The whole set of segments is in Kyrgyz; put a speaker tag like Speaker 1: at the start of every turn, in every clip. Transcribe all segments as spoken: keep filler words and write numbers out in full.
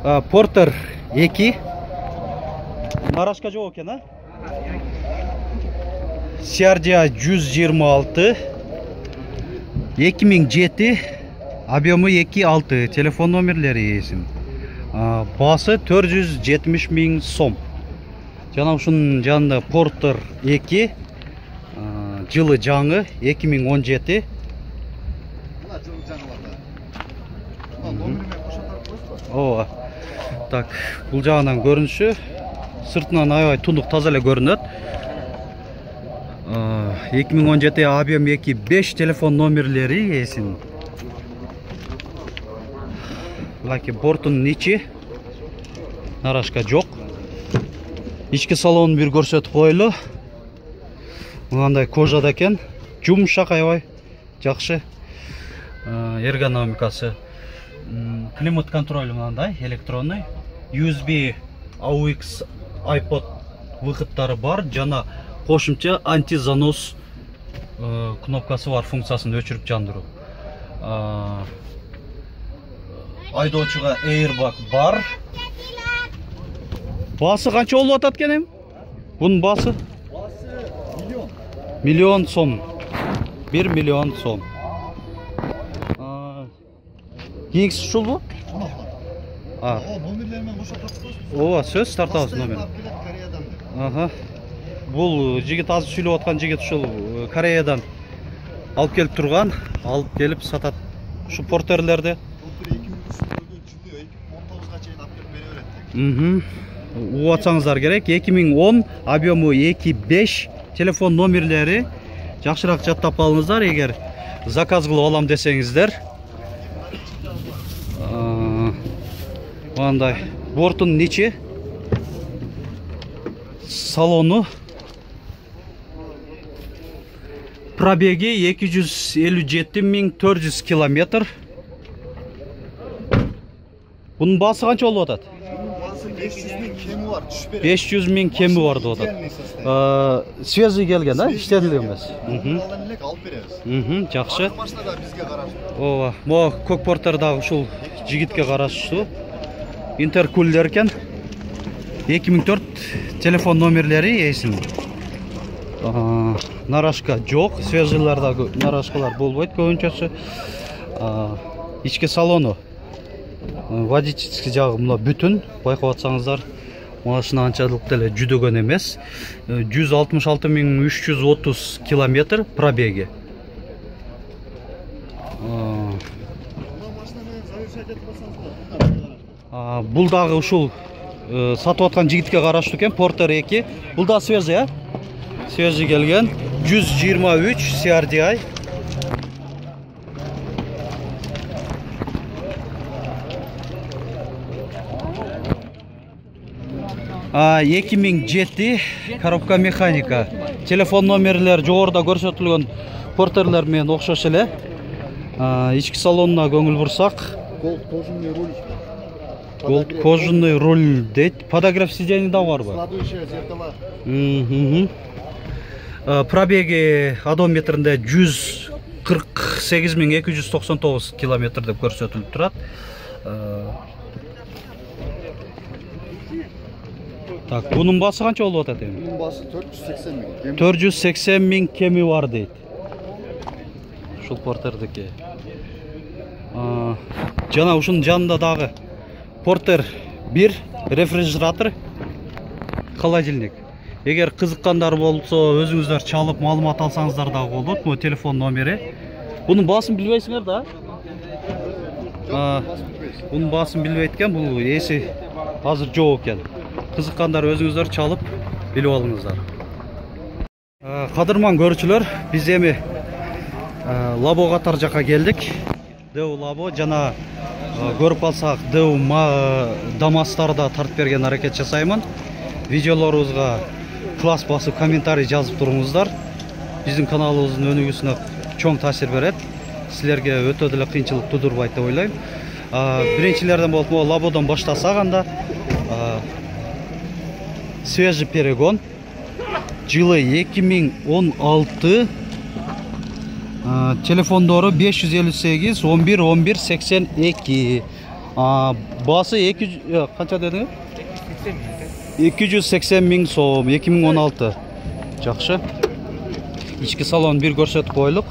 Speaker 1: Porter эки. Нарашка жок экен, а? си ар ди ай жүз жыйырма алты. эки миң жети. Объемы эки алты. Телефон номерлери эсин. Басы төрт жүз жетимиш миң сом. Жана ушунун жанында Porter эки. Жылы жаңы эки миң он жети. Ооба. Так, бул жагынан көрүнүшү. Сыртынан аябай тундук таза эле көрүнөт. эки миң он жети объем эки беш телефон номерлери эсин. Лаки бортунун ичи нарашка жок. Ички салонун бир көрсөтүп коелу. Мындай кожада экен. Жумшак аябай жакшы. Эргономикасы. Климат контролю мындай электронный. ю эс би, эй ю экс, iPod выходтары бар. Жана кошумча антизанос кнопкасы бар, функциясын өчүрүп жандыруу. Айдоочуга airbag бар. Басы канча болуп атат экен эми? Бунун басы?
Speaker 2: Басы миллион.
Speaker 1: Миллион сом. бир миллион сом. Кийинкиси ушулбу? А.
Speaker 2: Номерлер менен кошо тартабыз.
Speaker 1: Ооба, сөз тартабыз номер. Ага. Бул жигит азыр сүйлөп аткан жигит ушул Кореядан алып келип турган, алып келип сатат. Ушу портерлерди. Мм. Уатсаңыздар керек. эки миң он, объему эки беш, телефон номерлери жакшыраак жаттап алыңыздар эгер заказ кылып алам десеңиздер. Мындай бортунун ичи, салону, пробеги эки жүз элүү жети миң төрт жүз километр. Бунун баасы канча болуп атат?
Speaker 2: беш жүз миң кеми бар, түшпөйт.
Speaker 1: беш жүз миң кеми бар деп атат. Свежий келген, да? Иштетилген эмес.
Speaker 2: Мм. Алып беребиз.
Speaker 1: Мм, жакшы.
Speaker 2: Башта да бизге караштуу.
Speaker 1: Ооба, могу көк порттар дагы ушул жигитке караштуу. Интеркулер экен. эки миң төрт телефон номерлери эсин. Нарашка жок, свежийларда нарашкалар болбойт көбүнчөсү. Ички салону, водительский жагы мына бүтүн, байкап атсаңыздар. Машина анчалык деле жүдөгөн эмес. жүз алтымыш алты миң үч жүз отуз километр пробеги. Бул дагы ушул сатып аткан жигитке караштуу экен, Porter эки. Бул да свежий, а? Свежий келген. жүз жыйырма үч си ар ди ай. эки миң жети коробка механика. Телефон номерлер жогоруда көрсөтүлгөн Porterler менен окшош эле. Ички салонуна көңүл бурсак,
Speaker 2: Gold кожаный руль.
Speaker 1: Gold кожаный руль дейт. Подогрев сидений да барбы?
Speaker 2: Складывающее зеркало.
Speaker 1: Мм. Пробеги одометринде жүз кырк сегиз миң эки жүз токсон тогуз километр деп көрсөтүлүп турат. Так, бунун басы канча болуп атат эми?
Speaker 2: Бунун басы төрт жүз сексен миң.
Speaker 1: төрт жүз сексен миң кеми бар дейт. Ушул Porter'дики. Жана ушунун жанында дагы Porter бир рефрижератор, холодильник. Эгер кызыккандар болсо, өзүңүздөр чалып маалымат алсаңыздар дагы болот. Бул телефон номери. Бунун баасын билбейсиңер да? Бунун баасын билбейт экен, бул эси азыр жок экен. Кызыккандар өзүңүздөр чалып билип алыңыздар. Кадырман көрүүчүлөр, биз эми Лабо катар жака келдик. Дэу Лабо жана көрүп алсак Дэу Дамастарда тартып берген аракет жасаймын. Видеолорубузга класс басып комментарий жазып туруңуздар. Биздин каналыбыздын өнүгүүсүнө чоң таасир берет. Силерге өтө деле кыйынчылык тудурбайт деп ойлойм. Биринчилерден болуп могу Лабодон баштасак анда свежий перегон, жылы эки миң он алты, телефондору беш жүз элүү сегиз он бир он бир сексен эки. А, баасы эки жүз канча дедиңер? эки жүз сексен миң сом, эки миң он алты. Жакшы. Ички салон бир көрсөтүп койлук.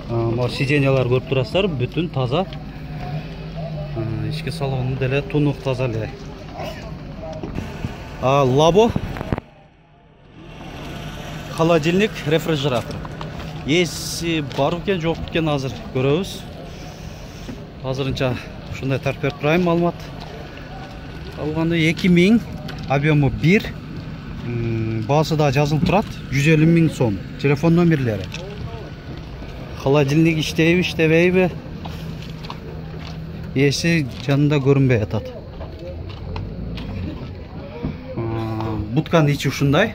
Speaker 1: Мына сиденьялар көрүп турасыздар, бүтүн таза. Ички салону деле тунук таза эле. А, лабо. Холодильник, рефрижератор. Эси бар экен, жок экен азыр көрөбүз. Азырынча ушундай тарп берип турайын маалымат. Алганда эки миң, объему бир, баасы да жазылып турат, жүз элүү миң сом. Телефон номерлери. Холодильник иштейби, иштебейби? Эси жанында көрүнбөй атат. Бутканын ичи ушундай.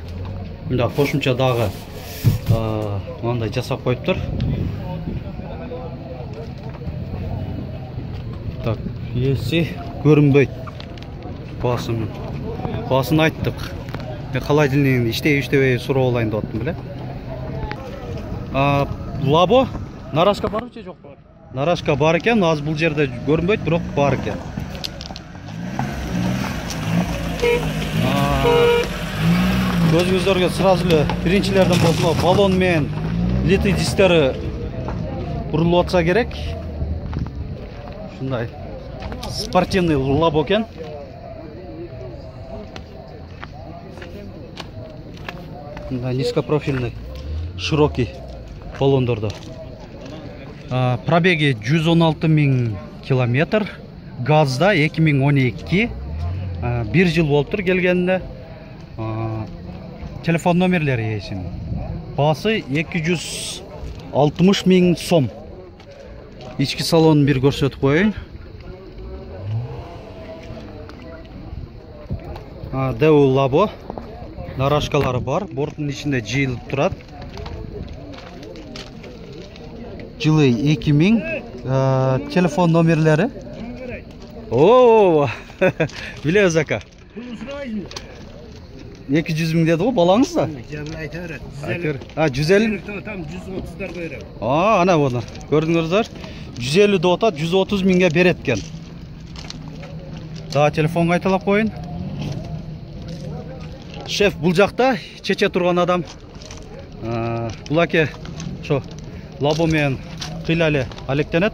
Speaker 1: Мында кошумча дагы мындай жасап коюптур. Так, эси көрүнбөйт. Баасын. Баасын айттык. Мен холодильниктин иштейби, иштебейби суроо алайын деп аттым беле. А, лабо нарашка барбы же жокпу? Нарашка бар экен, азыр бул жерде көрүнбөйт, бирок бар экен. Көзүңүздөргө сразу эле биринчилерден болсо баллон менен литый дисктери урулуп атса керек. Ушундай спортивный лабо экен. Мындай низкопрофильный, широкий баллондордо. Пробеги жүз он алты миң километр, газда эки миң он эки, бир жыл болуптур келгенде. Телефон номерлери эсин. Баасы эки жүз алтымыш миң сом. Ички салонун бир көрсөтүп коеюн. Дэу лабо. Нарашкалары бар, борттун ичинде жыйылып турат. Жылы эки миң, телефон номерлери. О, билебиз ака. эки жүз миң деди го балаңыз да?
Speaker 3: Айта берет.
Speaker 1: А, жүз элүү.
Speaker 3: Там жүз отуздар берем.
Speaker 1: А, ана буну. Көрдүңүздөр? жүз элүү деп атат, жүз отуз миңге берет экен. Да, телефон кайталап коюн. Шеф, бул жакта чече турган адам. Бул аке ошо лабо менен кыйла эле алектенет.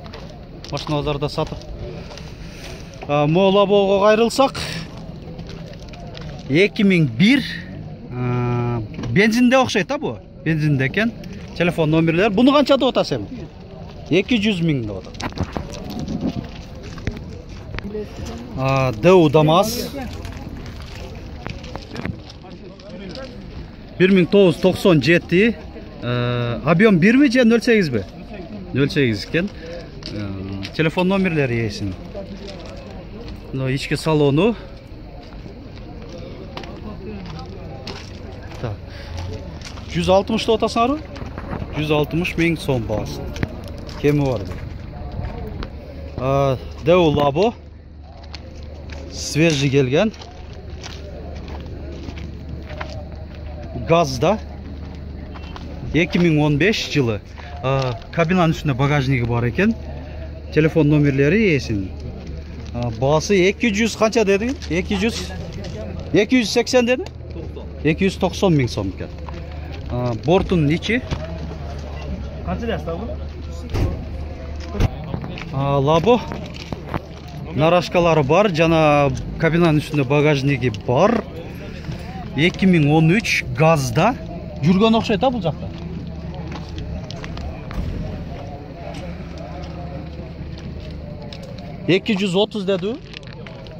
Speaker 1: Машина базарда сатып. Мо лабого кайрылсак, эки миң бир, бензинде окшойт а бу? Бензинде экен. Телефон номерлер. Буну канча деп атасың? эки жүз миң деп атат. Дэу ДАМАЗ. бир миң тогуз жүз токсон жети. Объем бирби же нөл сегизби? нөл сегиз экен. Телефон номерлери эсин. Мына ички салону. Так. жүз алтымыш деп атасыңарбы? жүз алтымыш миң сом баасы. Кеми бар? Дэу лабо. Свежий келген. Газда. эки миң он беш жылы. Кабинанын үстүндө багажниги бар экен. Телефон номерлери эсин. Баасы эки жүз канча дедиң? эки жүз эки жүз сексен деди? эки жүз токсон миң сом экен. Борттун ичи.
Speaker 3: Канча десте бу?
Speaker 1: Лабо. Нарашкалары бар, жана кабинанын үстүндө багажниги бар. эки миң он үч газда жүргөн окшойт а бул жакта. эки жүз отуз деди.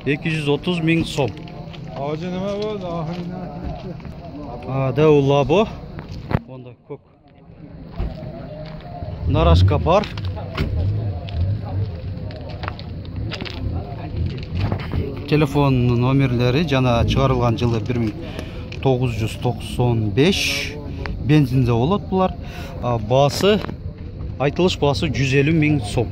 Speaker 1: эки жүз отуз миң сом.
Speaker 3: Ажы неме болду?
Speaker 1: Дэу лабо. Онда көк. Нарашка бар. Телефон номерлери жана чыгарылган жылы бир миң тогуз жүз токсон беш. Бензинде болот булар. Баасы айтылыш баасы жүз элүү миң сом.